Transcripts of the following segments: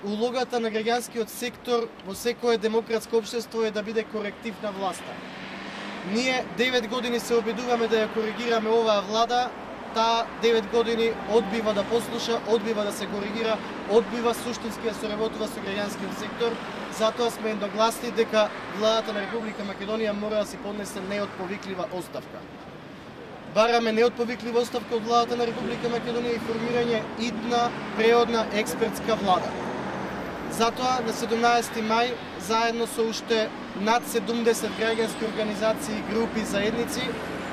Улогата на граѓанскиот сектор во секое демократско општество е да биде коректив на власта. Ние 9 години се обидуваме да ја коригираме оваа влада, таа 9 години одбива да послуша, одбива да се коригира, одбива суштински да соработува со граѓанскиот сектор. Затоа сме едногласни дека владата на Република Македонија мора да си поднесе неотповиклива оставка. Бараме неотповиклива оставка од владата на Република Македонија и формирање идна, преодна, експертска влада. Затоа на 17 мај, заедно со уште над 70 граѓански организации, групи, заедници,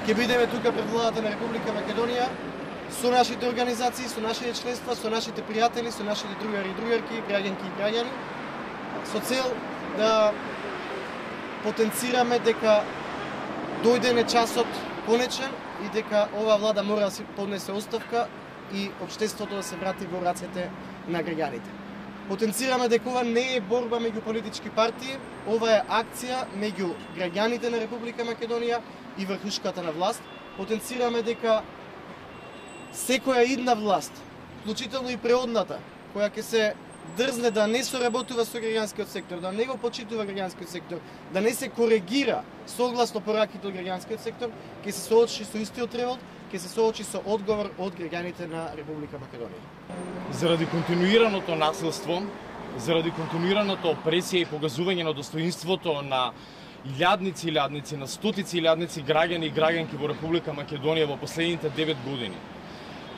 ќе бидеме тука пред владата на Република Македонија со нашите организации, со нашите членства, со нашите пријатели, со нашите другари и другарки, граѓанки и граѓани, со цел да потенцираме дека дојдене часот конечен и дека оваа влада мора да си поднесе оставка и општеството да се врати во рацете на граѓаните. Потенцираме дека ова не е борба меѓу политички партии, ова е акција меѓу граѓаните на Република Македонија и врхушката на власт. Потенцираме дека секоја идна власт, вклучително и преодната, која ќе се дрзне да не соработува со граѓанскиот сектор, да не го почитува граѓанскиот сектор, да не се коригира согласно пораките од граѓанскиот сектор, ќе се соочи со истиот револт, ќе се соочи со одговор од граѓаните на Република Македонија. Заради континуираното насилство, заради континуираната опресија и погазување на достоинството на илјадници, на стотици илјадници граѓани и граѓанки во Република Македонија во последните 9 години,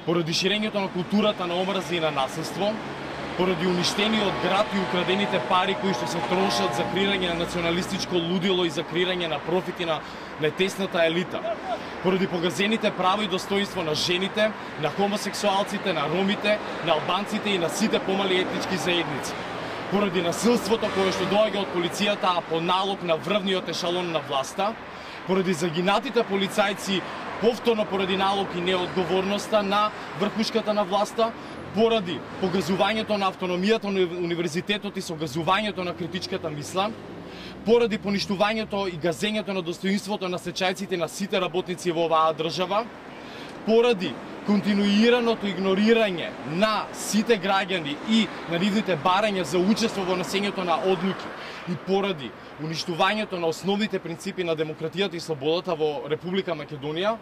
поради ширењето на културата на омраза и на насилство, поради уништениот град и украдените пари кои што се трошат за креирање на националистичко лудило и за креирање на профити на најтесната елита, поради погазените права и достоинство на жените, на хомосексуалците, на ромите, на албанците и на сите помали етнички заедници, поради насилството кое што доаѓа од полицијата, а по налог на врвниот ешалон на власта, поради загинатите полицајци, повторно поради налог и неодговорноста на врхушката на власта, поради погазувањето на автономијата на универзитетот и согазувањето на критичката мисла, поради поништувањето и газењето на достоинството на сечајците на сите работници во оваа држава, поради континуираното игнорирање на сите граѓани и на нивните барања за учество во носењето на одлуки и поради уништувањето на основните принципи на демократијата и слободата во Република Македонија,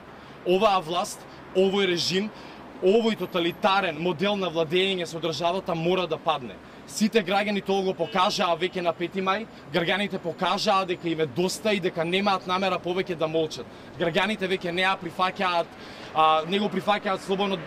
оваа власт, овој режим, овој тоталитарен модел на владење со државата мора да падне. Сите граѓани тоа го покажаа веќе на 5 мај, граѓаните покажаа дека им е доста и дека немаат намера повеќе да молчат. Граѓаните веќе не го прифаќаат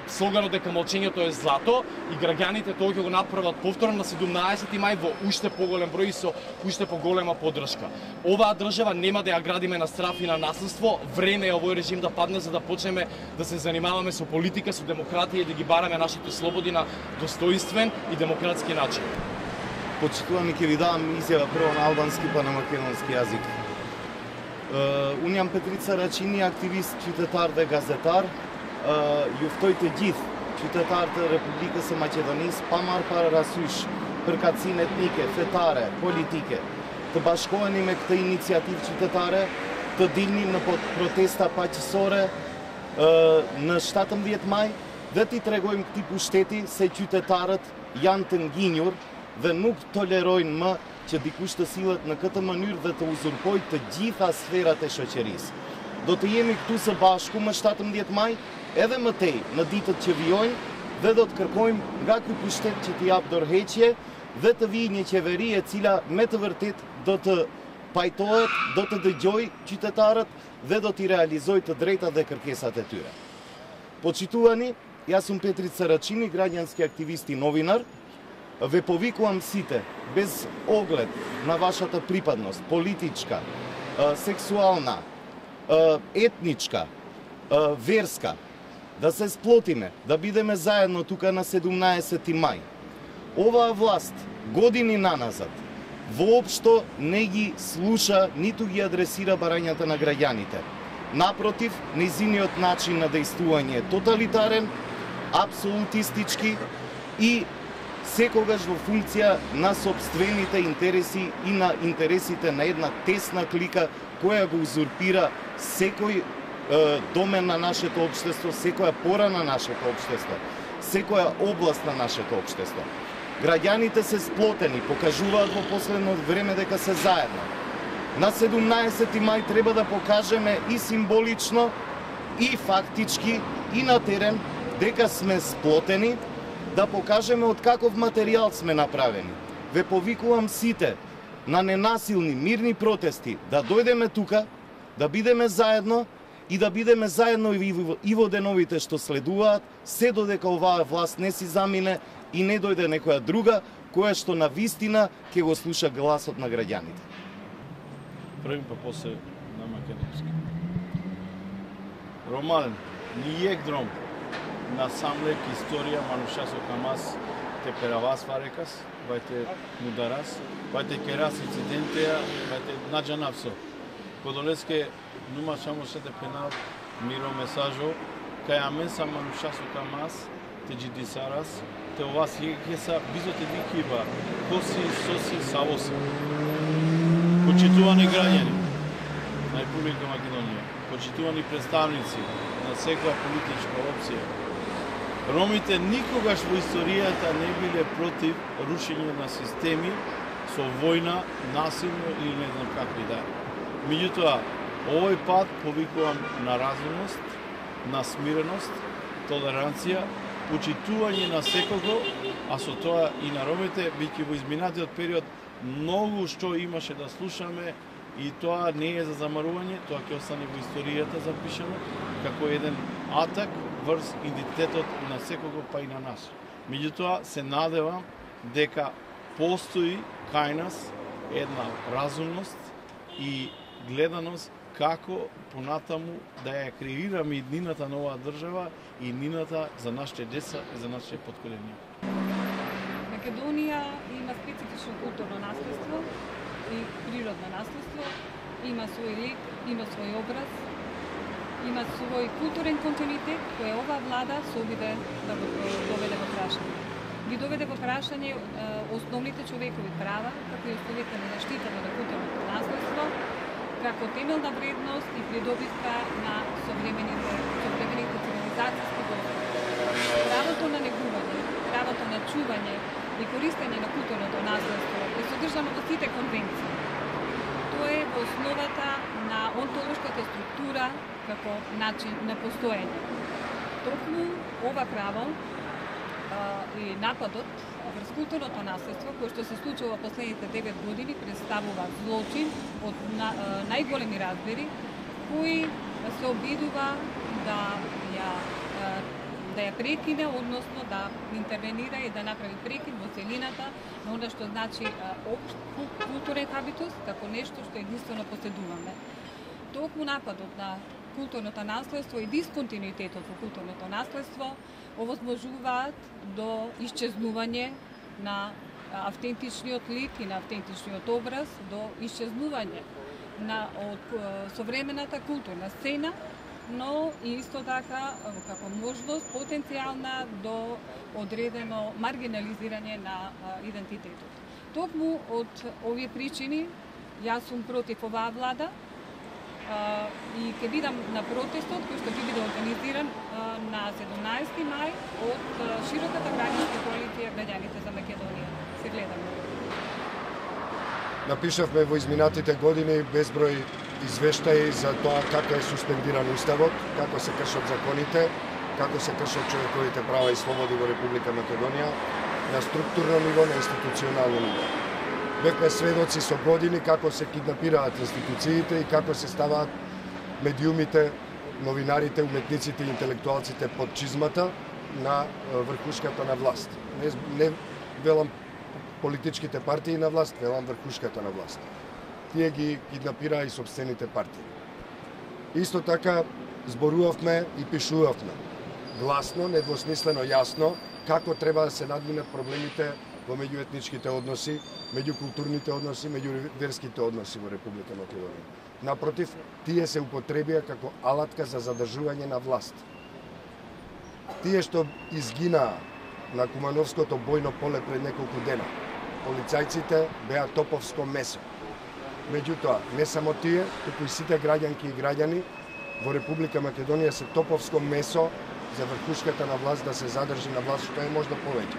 слоганот дека молчењето е злато и граѓаните тоа ќе го направат повторно на 17 мај во уште поголем број и со уште поголема поддршка. Оваа држава нема да ја градиме на страф и на насилство, време е овој режим да падне за да почнеме да се занимаваме со политика, со демократија и да ги бараме нашите слободи на достоинствен и демократски начин. Почитувани, ќе ви давам изјава прво на албански па на македонски јазик. Unë jam Petrica Raqini, aktivist, qytetar dhe gazetar. Juftoj të gjithë qytetarët e Republikës së Maqedonisë pa marrë parasysh përkatësinë etnike, fetare, politike, të bashkoheni me këtë iniciativë qytetare, të dilni në protesta paqësore në 17 maj dhe t'i tregojmë këtij pushteti se qytetarët janë të ngjinjur dhe nuk tolerojnë më që dikush të sillet në këtë mënyrë dhe të uzurpojë të gjitha sferat e shoqërisë. Do të jemi këtu së bashku më 17 maj, edhe më tej në ditët që vijojnë dhe do të kërkojmë nga ky pushtet që t'i jap dorëheqje dhe të vijë një qeveri e cila me të vërtet do të pajtohet, do të dëgjojë qytetarët dhe do t'i realizojë të drejtat dhe kërkesat e tyre. Почитувани, јас сум Петрица Рачини, граѓански активист и новинар. Ве повикувам сите, без оглед на вашата припадност, политичка, сексуална, етничка, верска, да се сплотиме, да бидеме заедно тука на 17 мај. Оваа власт, години наназад, воопшто не ги слуша, ниту ги адресира барањата на граѓаните. Напротив, нејзиниот начин на дејствување е тоталитарен, апсолутистички и секогаш во функција на сопствените интереси и на интересите на една тесна клика која го узурпира секој домен на нашето општество, секоја пора на нашето општество, секоја област на нашето општество. Граѓаните се сплотени, покажуваат во последно време дека се заедно. На 17 мај треба да покажеме и символично, и фактички, и на терен дека сме сплотени, да покажеме од каков материјал сме направени. Ве повикувам сите на ненасилни, мирни протести да дојдеме тука, да бидеме заедно и да бидеме заедно и во деновите што следуваат, се додека оваа власт не си замине и не дојде некоја друга, која што на вистина ќе го слуша гласот на граѓаните. Првим па после на македонски. Роман, нијек дром, на самлек историја манушасо камас те перавас фарекас, вајте мударас, вајте керас инцидентеа, вајте наджа навсо. Кодолеске нума шамо се те пенал миро месажо, кај амен са манушасо камас, те джидисарас, те овас јекеса, бизоте дикива, коси, соси, савоси. Почитувани граѓани на Република Македонија, почитувани представници на секоја политичка опција, ромите никогаш во историјата не биле против рушење на системи со војна, насилно или не знам какви да. Меѓутоа, овој пат повикувам на разумност, на смиреност, толеранција, почитување на секого, а со тоа и на ромите, бидејќи во изминатиот период многу што имаше да слушаме и тоа не е за замарување, тоа ќе остане во историјата запишано како еден атак врз идентитетот на секого, па и на нас. Меѓутоа, се надевам дека постои кај нас една разумност и гледаност како понатаму да ја креираме иднината на оваа држава и иднината за нашите деца и за нашите подколенија. Македонија има специфично културно наследство и природно наследство, има свој лик, има свој образ, има свој културен континуитет кој оваа влада се обиде да го доведе во прашање. Ги доведе во прашање основните човекови права, како и условите на заштита на културното наследство, како темелна вредност и придобивка на современите цивилизацијски достижња. Правото на негување, правото на чување и користење на културното наследство е содржано во сите конвенции. Тоа е во основата на онтолошката структура како начин на постоење. Токму ова право и нападот врз културното наследство, кој што се случува последните 9 години, представува злочин од најголеми размери, кој се обидува да ја прекине, односно да интервенира и да направи прекин во целината на она што значи општ културен хабитус, како нешто што единствено поседуваме. Токму нападот на културното наследство и дисконтинуитетот во културното наследство овозможуваат до исчезнување на автентичниот лик и на автентичниот образ, до исчезнување од современата културна сцена, но и исто така како можност потенцијална до одредено маргинализирање на идентитетот. Токму од овие причини јас сум против оваа влада и ќе бидам на протестот кој што ќе биде организиран на 17 мај од широката граѓанска коалиција Граѓаните за Македонија. Се гледаме. Напишавме во изминатите години безброј извештаи за тоа како е суспендиран уставот, како се кршат законите, како се кршат човековите права и слободи во Република Македонија на структурно ниво, на институционално ниво. Бевме сведоци со години како се киднапираат институциите и како се ставаат медиумите, новинарите, уметниците и интелектуалците под чизмата на врхушката на власт. Не велам политичките партии на власт, велам врхушката на власт. Тие ги киднапираа и сопствените партии. Исто така зборувавме и пишувавме гласно, недвосмислено, јасно како треба да се надминат проблемите во меѓуетничките односи, меѓукултурните односи, меѓуверските односи во Република Македонија. Напротив, тие се употребија како алатка за задржување на власт. Тие што изгинаа на Кумановското бојно поле пред неколку дена, полицајците беа топовско месо. Меѓутоа, не само тие, туку и сите граѓанки и граѓани во Република Македонија се топовско месо за врхушката на власт да се задржи на власт, што е можда повеќе.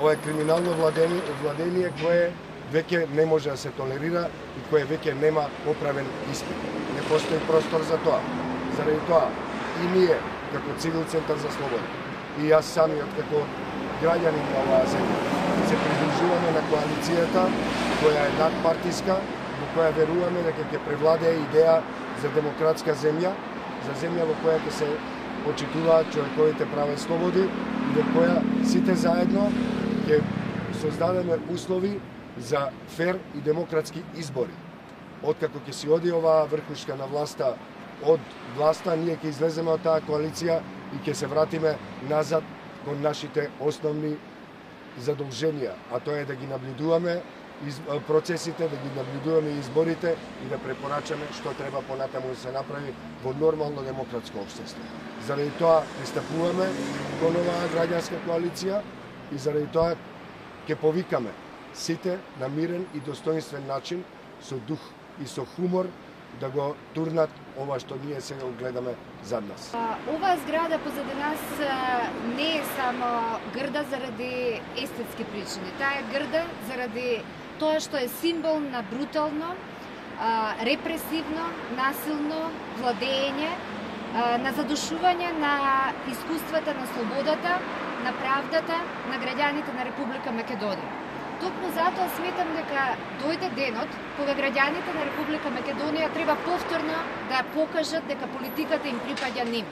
ова е криминално владење кое веќе не може да се толерира и кое веќе нема оправен испит. Не постои простор за тоа. Заради тоа и ние, како Цивил Центар за слобода, и јас самиот како граѓанин на оваа земја, се придружуваме на коалицијата која е надпартиска, во која веруваме дека ќе превладее идеја за демократска земја, за земја во која ќе се почитуваат човековите права и слободи и во која сите заедно ќе создадеме услови за фер и демократски избори. Откако ќе си оди оваа врхушка на власта од власта, ние ќе излеземе од таа коалиција и ќе се вратиме назад кон нашите основни задолженија, а тоа е да ги наблюдуваме процесите, да ги наблюдуваме изборите и да препорачаме што треба понатаму да се направи во нормално демократско општество. Заради тоа пристапуваме кон оваа граѓанска коалиција и заради тоа ќе повикаме сите на мирен и достоинствен начин, со дух и со хумор, да го турнат ова што ние сега гледаме зад нас. Оваа зграда позади нас не е само грда заради естетски причини. Таа е грда заради тоа што е символ на брутално, репресивно, насилно владење, на задушување на искуствата на слободата, на правдата на граѓаните на Република Македонија. Токму затоа сметам дека дојде денот кога граѓаните на Република Македонија треба повторно да покажат дека политиката им припаѓа ним.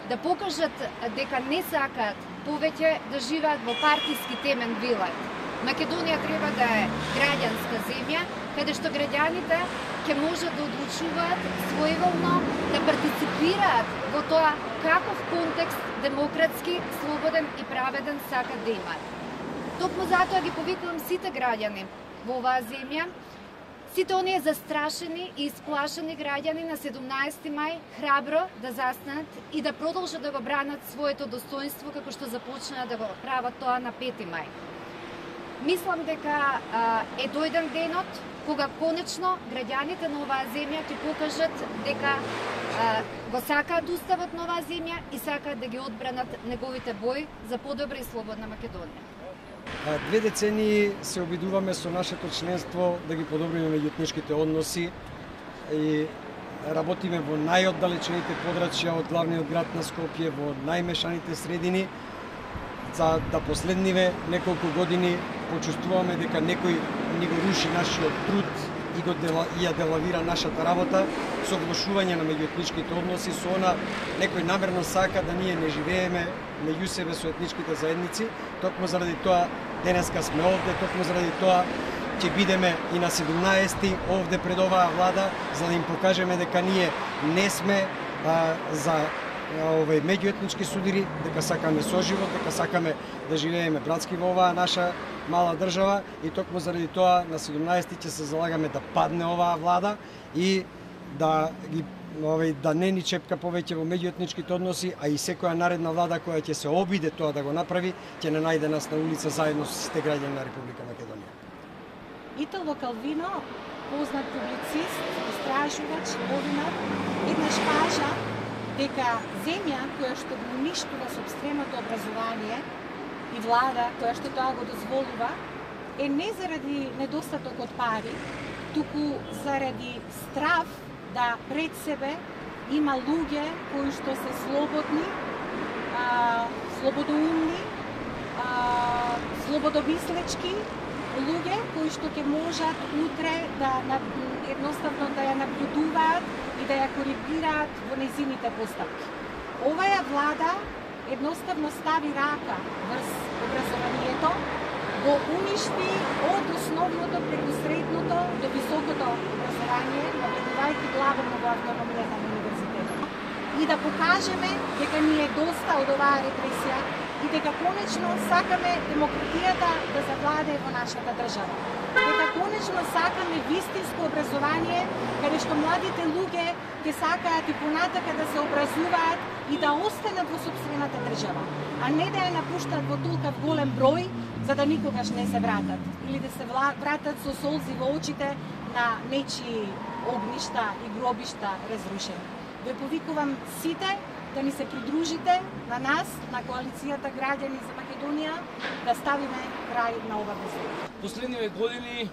Да покажат дека не сакаат повеќе да живеат во партиски темен вилај. Македонија треба да е граѓанска земја, каде што граѓаните ќе можат да одлучуваат своеволно, да партиципираат во тоа каков контекст демократски, слободен и праведен сакат да имаат. Токму затоа ги повикувам сите граѓани во оваа земја, сите оние застрашени и исплашени граѓани на 17 мај храбро да застанат и да продолжат да го бранат своето достоинство како што започнаа да го прават тоа на 5 мај. Мислам дека е дојден денот кога конечно граѓаните на оваа земја ќе покажат дека го сакаат уставот на оваа земја и сакаат да ги одбранат неговите бои за подобра и слободна Македонија. 2 децении се обидуваме со нашето членство да ги подобриме меѓуетничките односи и работиме во најоддалечените подрачја од главниот град на Скопје, во најмешаните средини, за да последниве неколку години почувствуваме дека некој ни го руши нашиот труд и ја делавира нашата работа со влошување на меѓуетничките односи, со она некој намерно сака да ние не живееме меѓу себе со етничките заедници. Токму заради тоа денеска сме овде, токму заради тоа ќе бидеме и на 17 овде пред оваа влада, за да им покажеме дека ние не сме за меѓуетнички судири, дека сакаме соживот, дека сакаме да живееме братски во оваа наша мала држава и токму заради тоа на 17 ќе се залагаме да падне оваа влада и да не ни чепка повеќе во меѓуетничките односи, а и секоја наредна влада која ќе се обиде тоа да го направи, ќе не најде нас на улица заедно со сите граѓани на Република Македонија. Итало Калвино, познат публицист, истражувач, новинар, еднаш кажа дека земја која што го уништува сопственото образование и влада која што тоа го дозволува е не заради недостаток од пари, туку заради страв да пред себе има луѓе кои што се слободни, слободоумни, слободомислечки, луѓе кои што ќе можат утре да едноставно да ја наблюдуваат и да ја коригираат во незините постапки. Оваа влада едноставно стави рака врз образованието, го уништи од основното преку средното до високото образование, наведувајќи главно во автономијата на универзитетот. И да покажеме дека ни е доста од оваа репресија и дека конечно сакаме демократијата да завладее во нашата држава. Дека конечно сакаме вистинско образование, каде што младите луѓе ќе сакаат и понатака да се образуваат и да останат во сопствената држава, а не да ја напуштат во толков голем број, за да никогаш не се вратат или да се вратат со солзи во очите на нечии огништа и гробишта разрушени. Ве повикувам сите да ни се придружите на нас, на коалицијата Граѓани за Македонија, да ставиме крај на ова безумие. Последниве години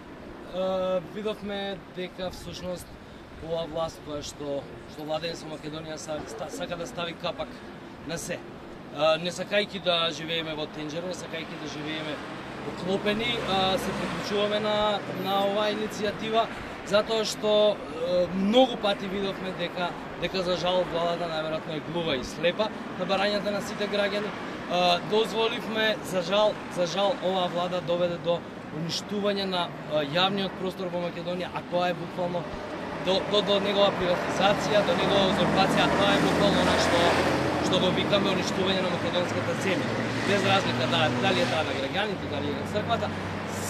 видовме дека всушност ова власт која што владее со Македонија сака да стави капак на се. Не сакајќи да живееме во тенџера, не сакајќи да живееме оклопени, се приклучуваме на оваа иницијатива, затоа што многу пати видовме дека за жал владата најверојатно е глува и слепа на барањата на сите граѓани. Дозволивме, за жал оваа влада доведе до уништување на јавниот простор во Македонија, а тоа е буквално до негова приватизација, до негова узурпација, а тоа е буквално што го викаме уништување на македонската земја. Без разлика дали е таа на граѓаните, дали е на црквата,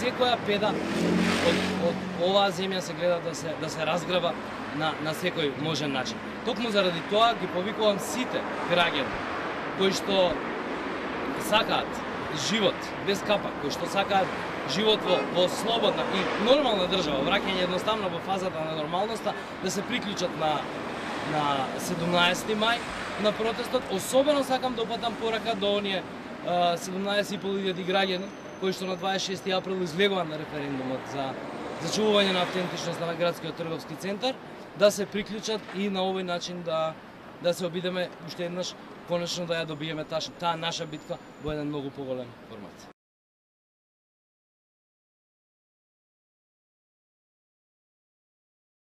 секоја педа од оваа земја се гледа да се разграба на секој можен начин. Токму заради тоа ги повикувам сите граѓани кои што сакаат живот без капак, кои што сакаат живот во слободна и нормална држава, враќање едноставно во фазата на нормалноста, да се приклучат на 17 мај на протестот. Особено сакам да упатам порака до оние 17.500 граѓани кои што на 26 април излегува на референдумот за зачувување на автентичност на градскиот трговски центар, да се приклучат и на овој начин да се обидеме уште еднаш конечно да ја добиеме таа наша битка во еден многу поголем формат.